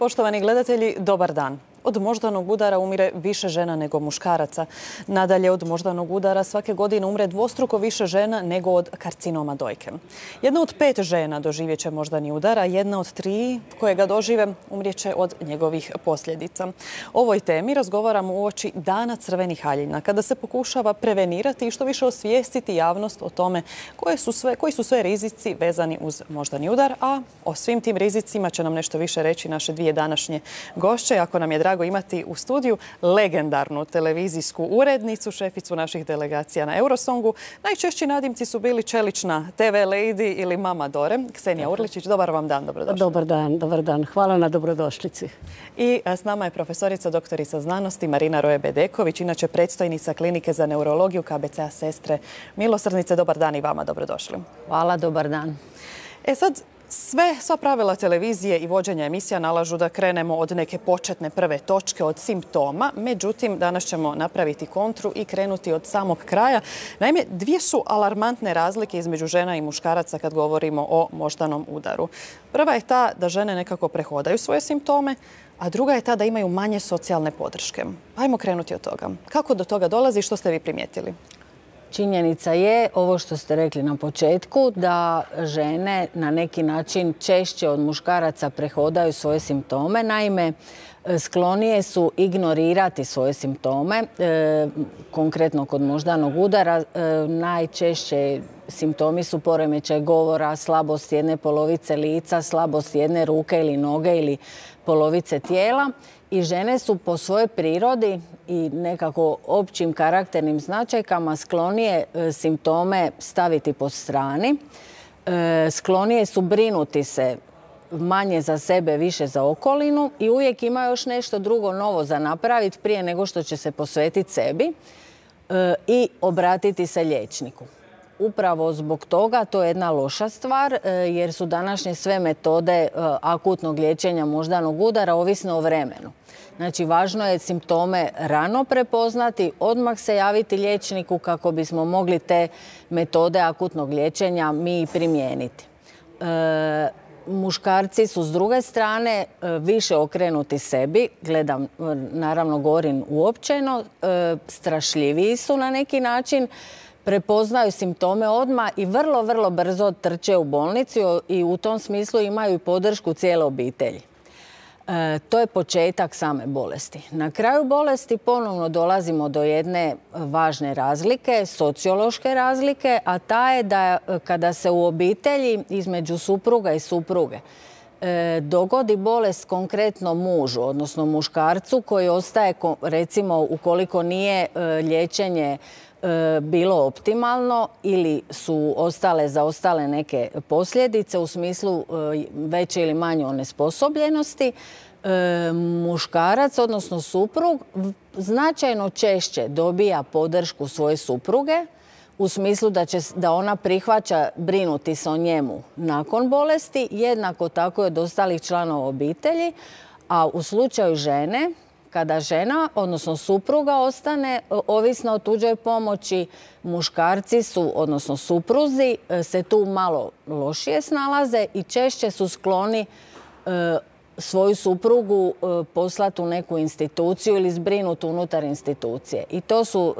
Poštovani gledatelji, dobar dan. Od moždanog udara umire više žena nego muškaraca. Nadalje, od moždanog udara svake godine umre dvostruko više žena nego od karcinoma dojke. Jedna od 5 žena doživjet će moždani udar, a jedna od 3 koje ga dožive umrijeće od njegovih posljedica. O ovoj temi razgovaramo uoči Dana crvenih haljina, kada se pokušava prevenirati i što više osvijestiti javnost o tome koji su sve rizici vezani uz moždani udar, a o svim tim rizicima će nam nešto više reći naše dvije današnje gošće. Ako nam je drago imati u studiju legendarnu televizijsku urednicu, šeficu naših delegacija na Eurosongu. Najčešći nadimci su bili čelična TV lady ili mama Dore. Ksenija Urličić, dobar vam dan, dobrodošli. Dobar dan. Hvala na dobrodošlici. I s nama je profesorica doktorica znanosti Marina Roje-Bedeković, inače predstojnica Klinike za neurologiju KBC-a Sestre Milosrdnice. Dobar dan i vama, dobrodošli. Hvala, dobar dan. Sad, sva pravila televizije i vođenja emisija nalažu da krenemo od neke početne prve točke, od simptoma. Međutim, danas ćemo napraviti kontru i krenuti od samog kraja. Naime, dvije su alarmantne razlike između žena i muškaraca kad govorimo o moždanom udaru. Prva je ta da žene nekako prehodaju svoje simptome, a druga je ta da imaju manje socijalne podrške. Ajmo krenuti od toga. Kako do toga dolazi i što ste vi primijetili? Činjenica je, ovo što ste rekli na početku, da žene na neki način češće od muškaraca prehodaju svoje simptome. Naime, sklonije su ignorirati svoje simptome. Konkretno kod moždanog udara najčešće simptomi su poremećaj govora, slabost jedne polovice lica, slabost jedne ruke ili noge ili polovice tijela. I žene su po svojoj prirodi i nekako općim karakternim značajkama sklonije simptome staviti po strani. Sklonije su brinuti se manje za sebe, više za okolinu i uvijek ima još nešto drugo novo za napraviti prije nego što će se posvetiti sebi i obratiti se liječniku. Upravo zbog toga to je jedna loša stvar jer su današnje sve metode akutnog liječenja moždanog udara ovisne o vremenu. Znači, važno je simptome rano prepoznati, odmah se javiti liječniku kako bismo mogli te metode akutnog liječenja mi primijeniti. Muškarci su s druge strane više okrenuti sebi, naravno govorim uopćeno, strašljiviji su na neki način, prepoznaju simptome odmah i vrlo brzo trče u bolnicu i u tom smislu imaju podršku cijele obitelji. To je početak same bolesti. Na kraju bolesti ponovno dolazimo do jedne važne razlike, sociološke razlike, a ta je da kada se u obitelji između supruga i supruge dogodi bolest konkretno mužu, odnosno muškarcu koji ostaje, recimo ukoliko nije liječenje bilo optimalno ili su zaostale neke posljedice u smislu veće ili manje onesposobljenosti, muškarac, odnosno suprug, značajno češće dobija podršku svoje supruge u smislu da ona prihvaća brinuti se o njemu nakon bolesti, jednako tako i od ostalih članova obitelji, a u slučaju žene, kada žena, odnosno supruga, ostane ovisna o tuđoj pomoći, muškarci su, odnosno supruzi, se tu malo lošije snalaze i češće su skloni svoju suprugu poslati u neku instituciju ili zbrinuti unutar institucije. I to su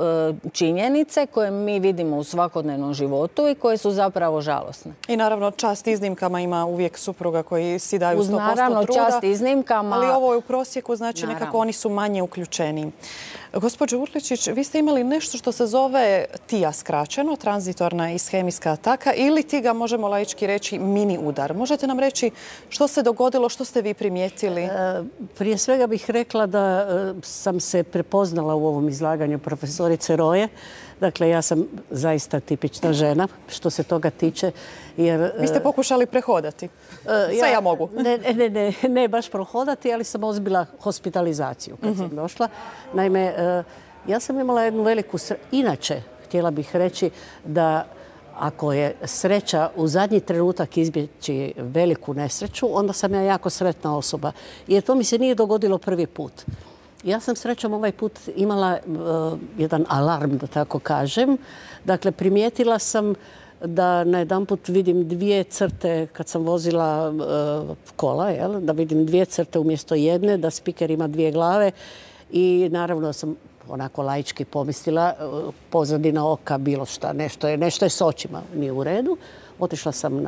činjenice koje mi vidimo u svakodnevnom životu i koje su zapravo žalosne. I naravno čast iznimkama, ima uvijek supruga koji si daju 100% truda. Naravno čast iznimkama. Ali ovo je u prosjeku, znači nekako oni su manje uključeni. Gospođo Urličić, vi ste imali nešto što se zove TIA skraćeno, tranzitorna ishemijska ataka, ili ti ga možemo laički reći mini udar. Možete nam reći što se dogodilo, što ste vi primijetili? Prije svega bih rekla da sam se prepoznala u ovom izlaganju profesorice Roje. Dakle, ja sam zaista tipična žena što se toga tiče. Vi ste pokušali prehodati. Sve ja mogu. Ne baš prohodati, ali sam odbila hospitalizaciju kad sam došla. Naime, ja sam imala jednu veliku inače, htjela bih reći da ako je sreća u zadnji trenutak izbjeći veliku nesreću, onda sam ja jako sretna osoba. Jer to mi se nije dogodilo prvi put. Ja sam srećom ovaj put imala jedan alarm, da tako kažem. Dakle, primijetila sam da najedanput vidim 2 crte kad sam vozila kola, da vidim 2 crte umjesto jedne, da spiker ima 2 glave i naravno sam onako laički pomislila, pozadina oka, bilo šta, nešto je s očima, nije u redu. Otišla sam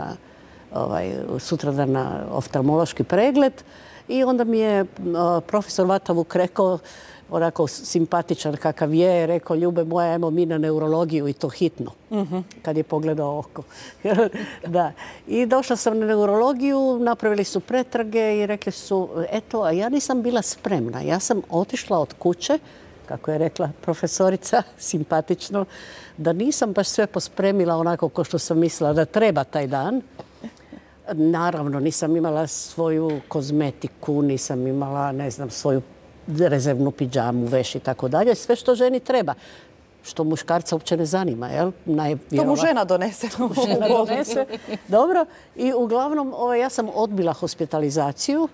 sutradan na oftalmološki pregled i onda mi je profesor Vatavuk rekao, onako simpatičan kakav je, rekao: Ljube moja, ajmo mi na neurologiju i to hitno. Kad je pogledao oko. Da. I došla sam na neurologiju, napravili su pretrage i rekli su, eto, a ja nisam bila spremna. Ja sam otišla od kuće, kako je rekla profesorica, simpatično, da nisam baš sve pospremila onako kao što sam mislila da treba taj dan. Naravno, nisam imala svoju kozmetiku, nisam imala, ne znam, svoju rezervnu pidžamu, veš i tako dalje. Sve što ženi treba. Što muškarca uopće ne zanima, jel? To mu žena donese. Dobro. I uglavnom, ja sam odbila hospitalizaciju.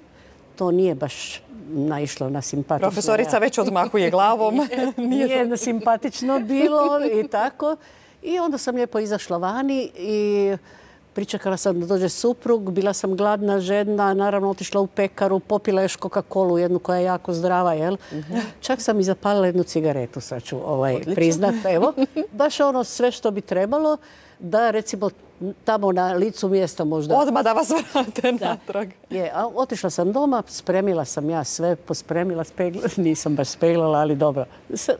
To nije baš naišlo na simpatično. Profesorica već odmahuje glavom. Nije simpatično bilo i tako. I onda sam lijepo izašla vani i pričekala sam da dođe suprug, bila sam gladna, žedna, naravno otišla u pekaru, popila još Coca-Colu, jednu koja je jako zdrava, jel? Čak sam i zapalila jednu cigaretu, sad ću priznat, evo. Baš ono sve što bi trebalo, da recimo tamo na licu mjesta možda... Odmah da vas vrate natrag. Otišla sam doma, spremila sam ja sve, pospremila, nisam baš speglala, ali dobro.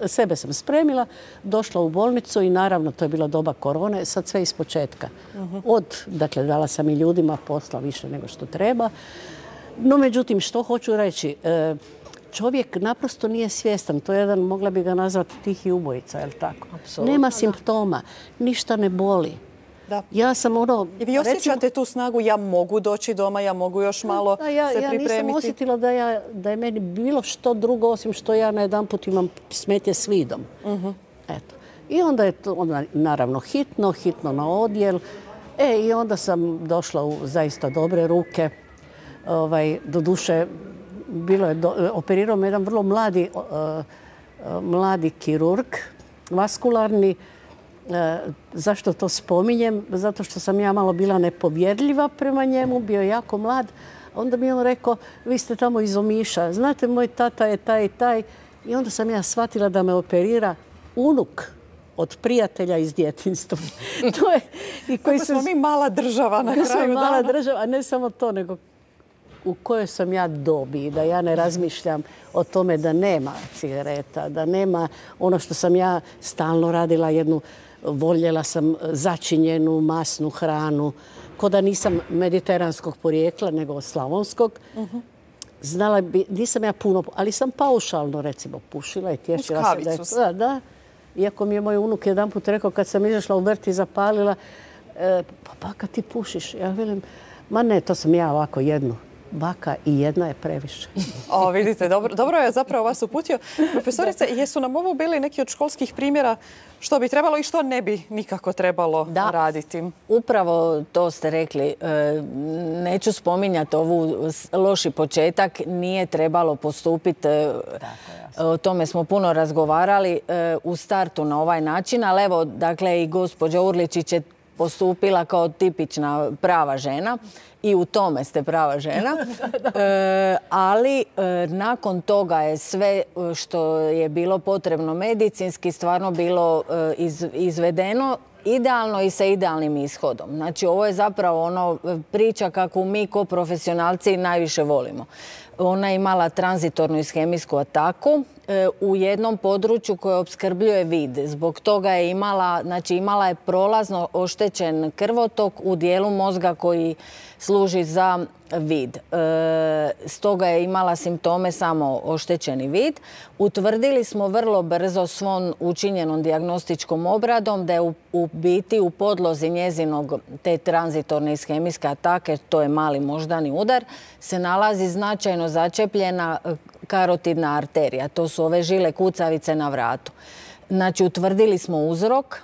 Sebe sam spremila, došla u bolnicu i naravno to je bila doba korone, sad sve iz početka. Dakle, dala sam i ljudima posla više nego što treba. No, međutim, što hoću reći, čovjek naprosto nije svjestan. To je jedan, mogla bi ga nazvati tihi ubojica, je li tako? Nema simptoma, ništa ne boli. Ja sam I vi osjećate tu snagu, ja mogu doći doma, ja mogu još malo se pripremiti? Ja nisam osjetila da je meni bilo što drugo, osim što ja najedanput imam smetje s vidom. Eto. I onda je to naravno hitno na odjel. I onda sam došla u zaista dobre ruke. Doduše, operirao me jedan vrlo mladi kirurg, vaskularni. Zašto to spominjem? Zato što sam ja malo bila nepovjerljiva prema njemu, bio je jako mlad. Onda mi je on rekao, vi ste tamo iz Omiša, znate, moj tata je taj i taj. I onda sam ja shvatila da me operira unuk od prijatelja iz djetinjstva. Kako smo mi mala država na kraju dana. Mala država, a ne samo to, nego u kojoj sam ja dobi, da ja ne razmišljam o tome da nema cigareta, da nema ono što sam ja stalno radila, voljela sam začinjenu masnu hranu, ko da nisam mediteranskog porijekla, nego slavonskog. Znala bi, nisam ja puno, ali sam paušalno recimo pušila i tješila se da je. Iako mi je moj unuk jedanput rekao kad sam izašla u vrt i zapalila, pa baka ti pušiš? Ja velim, ma ne, to sam ja ovako jednu. Baka i jedna je previše. Vidite, dobro je zapravo vas uputio. Profesorice, jesu nam ovo bili neki od školskih primjera što bi trebalo i što ne bi nikako trebalo raditi? Upravo to ste rekli. Neću spominjati ovu loši početak. Nije trebalo postupiti. O tome smo puno razgovarali u startu na ovaj način, ali evo, dakle, i gospođa Urličić je postupila kao tipična prava žena i u tome ste prava žena. Ali nakon toga je sve što je bilo potrebno medicinski stvarno bilo izvedeno idealno i sa idealnim ishodom. Znači, ovo je zapravo priča kakvu mi ko profesionalci najviše volimo. Ona je imala tranzitornu ishemijsku ataku u jednom području koje opskrbljuje vid. Zbog toga je imala je prolazno oštećen krvotok u dijelu mozga koji služi za vid. Stoga je imala simptome samo oštećeni vid. Utvrdili smo vrlo brzo svom učinjenom dijagnostičkom obradom da je u biti u podlozi njezinog te tranzitorne ishemijske atake, to je mali moždani udar, se nalazi značajno začepljena karotidna arterija. To su ove žile kucavice na vratu. Znači, utvrdili smo uzrok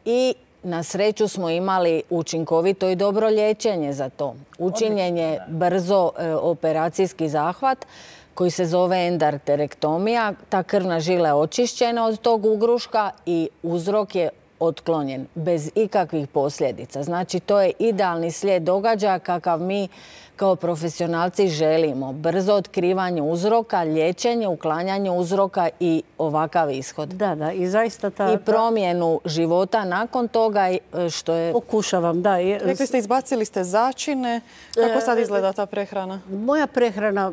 i na sreću smo imali učinkovito i dobro liječenje za to. Učinjen je brzo operacijski zahvat koji se zove endarterektomija. Ta krvna žila je očišćena od tog ugruška i uzrok je otklonjen bez ikakvih posljedica. Znači, to je idealni slijed događaja kakav mi kao profesionalci želimo. Brzo otkrivanje uzroka, liječenje, uklanjanje uzroka i ovakav ishod. Da, i zaista I promjenu života nakon toga, što je... Pokušavam, da. Rekli ste, izbacili ste začine. Kako sad izgleda ta prehrana? Moja prehrana,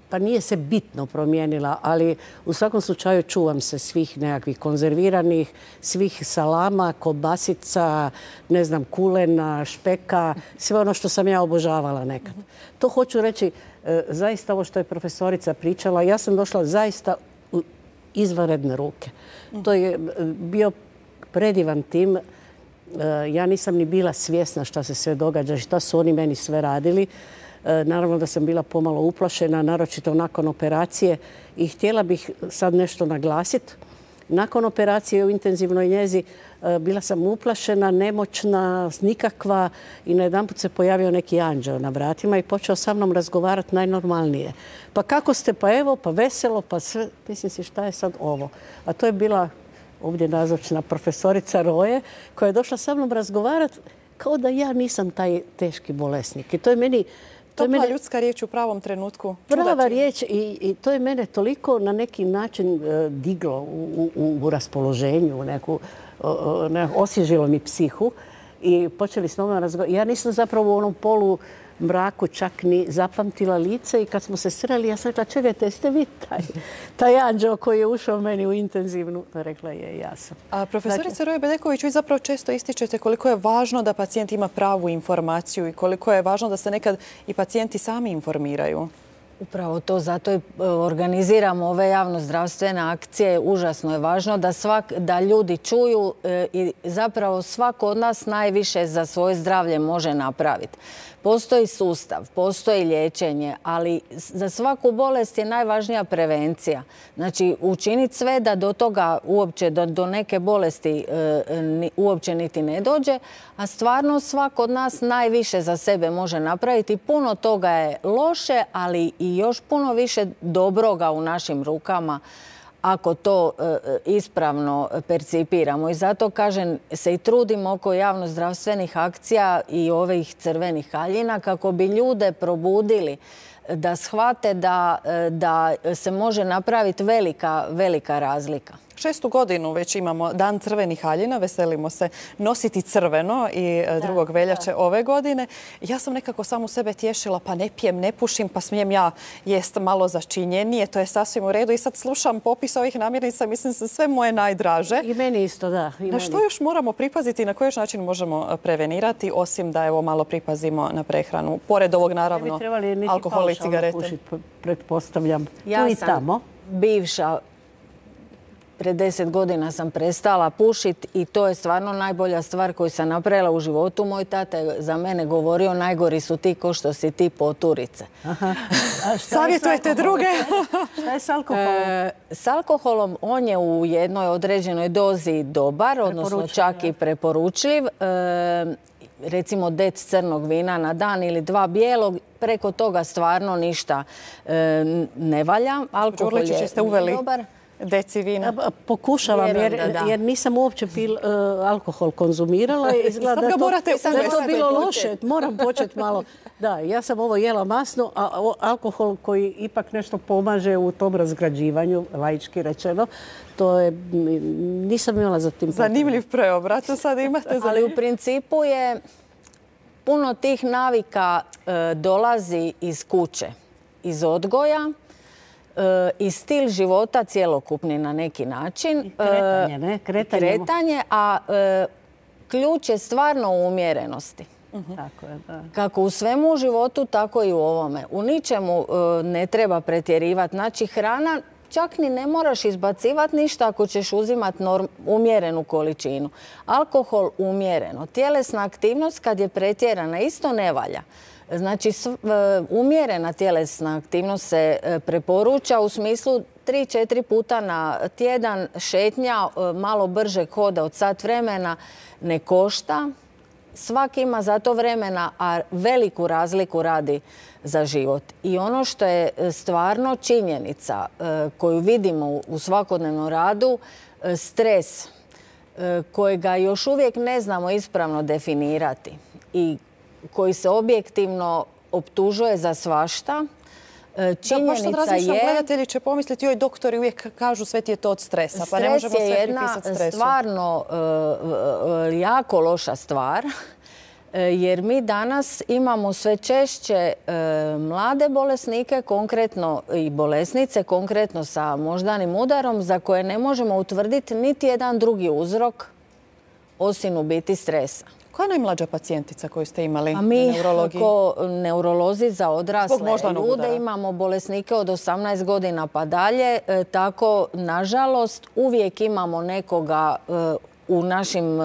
pa nije se bitno promijenila, ali u svakom slučaju čuvam se svih nekakvih konzerviranih, svih salama, kobasica, ne znam, kulena, špeka, sve ono što sam ja obožavala nekad. To hoću reći, zaista ovo što je profesorica pričala, ja sam došla zaista u izvanredne ruke. To je bio predivan tim. Ja nisam ni bila svjesna šta se sve događa i šta su oni meni sve radili. Naravno da sam bila pomalo uplašena, naročito nakon operacije, i htjela bih sad nešto naglasiti. Nakon operacije u intenzivnoj njezi bila sam uplašena, nemoćna, nikakva, i najedanput se pojavio neki anđeo na vratima i počeo sa mnom razgovarati najnormalnije. Pa kako ste? Pa evo, pa veselo, pa sve. Mislim si, šta je sad ovo? A to je bila ovdje nazočna profesorica Roje, koja je došla sa mnom razgovarati kao da ja nisam taj teški bolesnik. I to je meni... Topla ljudska riječ u pravom trenutku. Prava riječ, i to je mene toliko na neki način diglo u raspoloženju, osvježilo mi psihu i počeli s mnom razgovarati. Ja nisam zapravo u onom polu mraku čak ni zapamtila lice, i kad smo se sreli, ja sam rekla, čekajte, jeste vi taj anđeo koji je ušao meni u intenzivnu? Rekla je, ja sam. A profesorica Roje Bedeković, vi zapravo često ističete koliko je važno da pacijent ima pravu informaciju i koliko je važno da se nekad i pacijenti sami informiraju. Upravo to, zato i organiziramo ove javno-zdravstvene akcije. Užasno je važno da ljudi čuju i zapravo svako od nas najviše za svoje zdravlje može napraviti. Postoji sustav, postoji liječenje, ali za svaku bolest je najvažnija prevencija. Znači, učiniti sve da do toga uopće, do neke bolesti uopće niti ne dođe, a stvarno svako od nas najviše za sebe može napraviti. Puno toga je loše, ali i još puno više dobroga u našim rukama ako to ispravno percipiramo. I zato, kažem, se i trudimo oko javno-zdravstvenih akcija i ovih crvenih haljina kako bi ljude probudili da shvate da se može napraviti velika razlika. 6. godinu već imamo Dan crvenih haljina, veselimo se nositi crveno i 2. veljače ove godine. Ja sam nekako samu sebe tješila, pa ne pijem, ne pušim, pa smijem ja jest malo začinjenije. To je sasvim u redu i sad slušam popis ovih namirnica, mislim se sve moje najdraže. I meni isto, da. Na što još moramo pripaziti i na koji još način možemo prevenirati, osim da evo malo pripazimo na prehranu? Pored ovog, naravno, alkohol i cigarete. Pretpostavljam. Ja sam bivša. Pred 10 godina sam prestala pušiti i to je stvarno najbolja stvar koju sam napravila u životu. Moj tata je za mene govorio, najgori su ti ko što si ti poturice. Savjetujete druge? Šta je s alkoholom? S alkoholom on je u jednoj određenoj dozi dobar, odnosno čak i preporučljiv. Recimo dec crnog vina na dan ili 2 bijelog, preko toga stvarno ništa ne valja. Alkohol je dobar. Deci vina. Pokušavam, jer nisam uopće alkohol konzumirala. Izgleda da je to bilo loše. Moram početi malo. Da, ja sam ovo jela masno, a alkohol koji ipak nešto pomaže u tom razgrađivanju, laički rečeno, to je, nisam imala za tim. Zanimljiv preobrat, sad imate. Ali u principu je puno tih navika dolazi iz kuće, iz odgoja, i stil života cjelokupni na neki način. Kretanje, ne? Kretanje, a ključ je stvarno u umjerenosti. Tako je, da. Kako u svemu u životu, tako i u ovome. U ničemu ne treba pretjerivati. Znači, hrana čak ni ne moraš izbacivati ništa ako ćeš uzimati umjerenu količinu. Alkohol umjereno. Tjelesna aktivnost kad je pretjerana isto ne valja. Znači, umjerena tjelesna aktivnost se preporuča u smislu 3-4 puta na tjedan, šetnja, malo bržeg hoda od sat vremena ne košta. Svaki ima za to vremena, a veliku razliku radi za život. I ono što je stvarno činjenica koju vidimo u svakodnevnom radu, stres, kojega još uvijek ne znamo ispravno definirati i koji se objektivno optužuje za svašta. Činjenica je... Gledatelji će pomisliti, joj, doktori uvijek kažu sve ti je to od stresa, pa ne možemo sve pripisati stresu. Stres je jedna stvarno jako loša stvar, jer mi danas imamo sve češće mlade bolesnike, konkretno i bolesnice, konkretno sa moždanim udarom, za koje ne možemo utvrditi niti jedan drugi uzrok osim u biti stresa. Koja je najmlađa pacijentica koju ste imali na neurologiji? Kao neurolozi za odrasle ljude imamo bolesnike od 18 godina pa dalje. Tako, nažalost, uvijek imamo nekoga u našim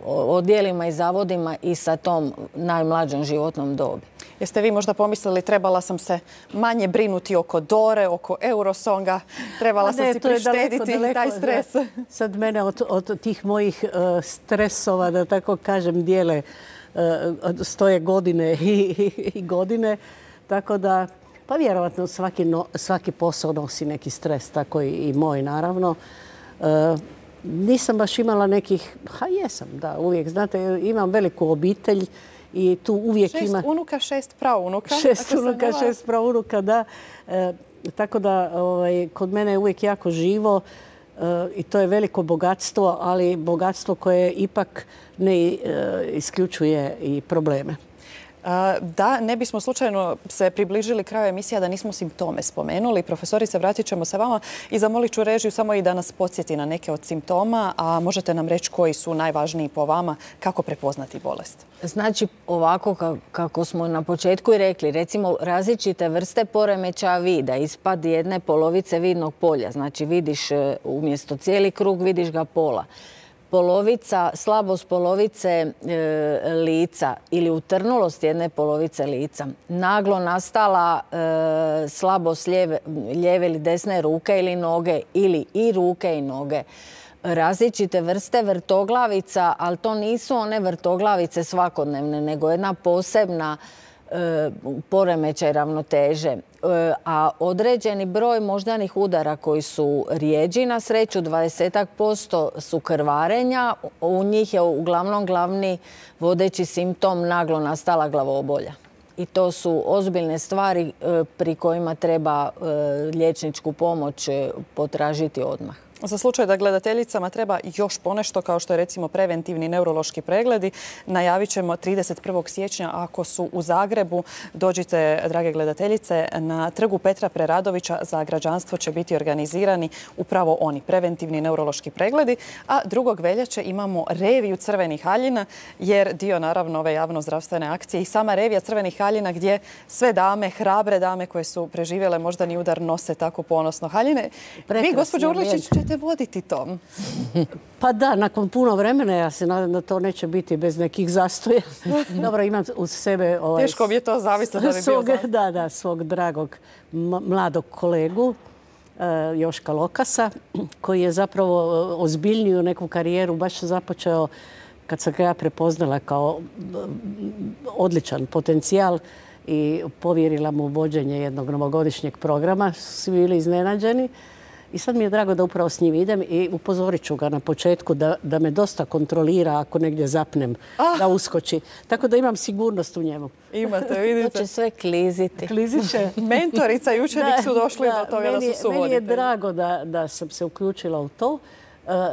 odjelima i zavodima i sa tom najmlađom životnom dobi. Jeste vi možda pomislili trebala sam se manje brinuti oko Dore, oko Eurosonga, trebala sam si prištediti taj stres? Sad mene od tih mojih stresova, da tako kažem, dijele stoje godine i godine. Tako da, pa vjerovatno svaki posao nosi neki stres, tako i moj naravno. Nisam baš imala nekih, jesam, da, uvijek, znate, imam veliku obitelj i tu uvijek ima... 6 unuka, 6 praunuka. 6 unuka, 6 praunuka, da. Tako da kod mene je uvijek jako živo i to je veliko bogatstvo, ali bogatstvo koje ipak ne isključuje i probleme. Da, ne bismo slučajno se približili kraju emisija da nismo simptome spomenuli. Profesorice, vratit ćemo se vama i zamolit ću režiju samo i da nas podsjeti na neke od simptoma, a možete nam reći koji su najvažniji po vama, kako prepoznati bolest. Znači, ovako kako smo na početku i rekli, recimo različite vrste poremećaja vida, ispad jedne polovice vidnog polja, znači vidiš umjesto cijeli krug, vidiš ga pola. Slabost polovice lica ili utrnulost jedne polovice lica, naglo nastala slabost lijeve ili desne ruke ili noge ili i ruke i noge, različite vrste vrtoglavica, ali to nisu one vrtoglavice svakodnevne, nego jedna posebna poremećaj ravnoteže. A određeni broj moždanih udara koji su rijeđi, na sreću 20% su krvarenja, u njih je uglavnom glavni vodeći simptom naglo nastala glavobolja. I to su ozbiljne stvari pri kojima treba liječničku pomoć potražiti odmah. Za slučaj da gledateljicama treba još ponešto, kao što je recimo preventivni neurološki pregledi, najavit ćemo 31. siječnja ako su u Zagrebu. Dođite, drage gledateljice, na trgu Petra Preradovića. Za građanstvo će biti organizirani upravo oni, preventivni neurološki pregledi. A 2. veljače imamo reviju crvenih haljina, jer dio naravno ove javno-zdravstvene akcije i sama revija crvenih haljina gdje sve dame, hrabre dame koje su preživjele moždani udar nose tako ponosno haljine. Vi, gospođo Urličić, ćete voditi to? Pa da, nakon puno vremena, ja se nadam da to neće biti bez nekih zastoja. Dobro, imam uz sebe... Teško mi je to zamisliti da bi bio zastoj. Da, svog dragog mladog kolegu, Joška Lokasa, koji je zapravo ozbiljniju neku karijeru baš započeo kad sam ga ja prepoznala kao odličan potencijal i povjerila mu vođenje jednog novogodišnjeg programa. Svi bili iznenađeni. I sad mi je drago da upravo s njim idem i upozorit ću ga na početku da me dosta kontrolira ako negdje zapnem, da uskoči. Tako da imam sigurnost u njemu. Imate, vidite. To će sve kliziti. Klizit će. Mentorica i učenik su došli do toga da su suvoditelji. Meni je drago da sam se uključila u to.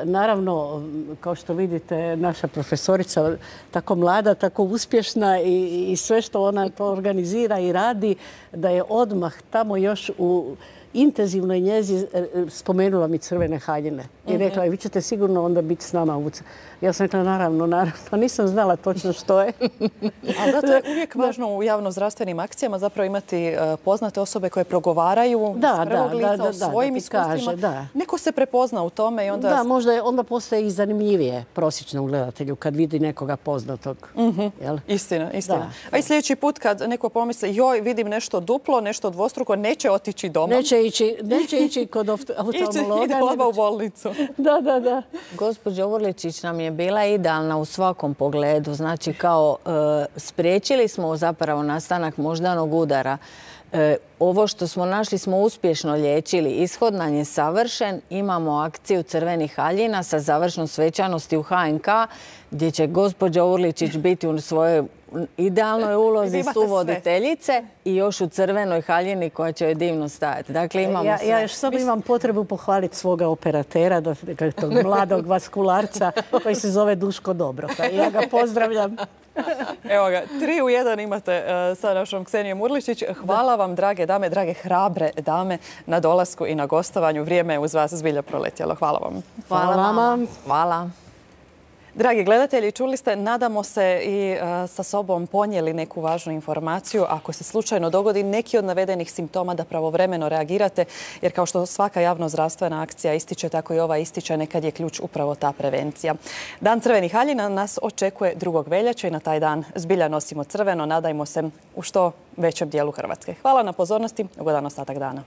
Naravno, kao što vidite, naša profesorica tako mlada, tako uspješna i sve što ona to organizira i radi, da je odmah tamo još u intenzivnoj njezi spomenula mi crvene haljine. I rekla je, vi ćete sigurno onda biti s nama u... Ja sam rekla, naravno. Nisam znala točno što je. Ali da, to je uvijek važno u javno-zdravstvenim akcijama zapravo imati poznate osobe koje progovaraju s prvog lica o svojim iskustvima. Neko se prepozna u tome i onda... Da, možda onda postaje i zanimljivije prosječnom gledatelju kad vidi nekoga poznatog. Istina. A i sljedeći put kad neko pomisli, joj, vidim nešto duplo, nešto dvostruko, neće otići doma. Neće ići kod oftalmologa. Ide odmah u bolnicu. Da. Gospođa Urličić nam je bila idealna u svakom pogledu. Znači, kao spriječili smo zapravo nastanak moždanog udara. ovo što smo našli smo uspješno liječili. Ishod nam je savršen. Imamo akciju crvenih haljina sa završnom svečanosti u HNK gdje će gospođa Urličić biti u svojoj idealnoj ulozi suvoditeljice i još u crvenoj haljini koja će joj divno stajati. Dakle, imamo sve. Ja još samo imam potrebu pohvaliti svoga operatera, tog mladog vaskularca koji se zove Duško Dobroka. Ja ga pozdravljam. Evo ga, 3 u 1 imate sa našom Ksenijom Urličić. Hvala vam, drage dame, drage hrabre dame, na dolasku i na gostovanju. Vrijeme je uz vas zbilja proletjelo. Hvala vam. Hvala vama. Hvala. Dragi gledatelji, čuli ste, nadamo se i sa sobom ponijeli neku važnu informaciju. Ako se slučajno dogodi neki od navedenih simptoma, da pravovremeno reagirate, jer kao što svaka javno-zdravstvena akcija ističe, tako i ova ističe, nekad je ključ upravo ta prevencija. Dan crvenih haljina nas očekuje 2. veljače i na taj dan zbilja nosimo crveno. Nadajmo se u što većem dijelu Hrvatske. Hvala na pozornosti. Ugodan ostatak dana.